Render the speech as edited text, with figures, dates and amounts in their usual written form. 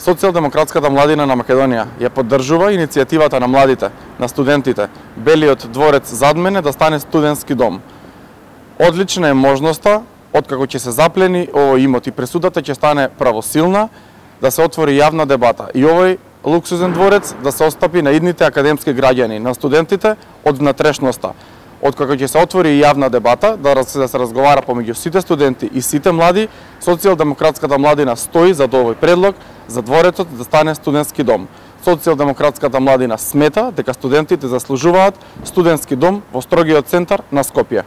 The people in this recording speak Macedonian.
Социјалдемократската младина на Македонија ја поддржува иницијативата на младите, на студентите, Белиот дворец зад мене да стане студентски дом. Одлична е можноста, откако ќе се заплени овој имот и пресудата ќе стане правосилна, да се отвори јавна дебата и овој луксузен дворец да се остапи на идните академски граѓани, на студентите од внатрешноста. Откако ќе се отвори јавна дебата, да се разговара помеѓу сите студенти и сите млади, Социјалдемократската младина стои за овој предлог за дворецот да стане студентски дом. Социјалдемократската младина смета дека студентите заслужуваат студентски дом во строгиот центар на Скопје.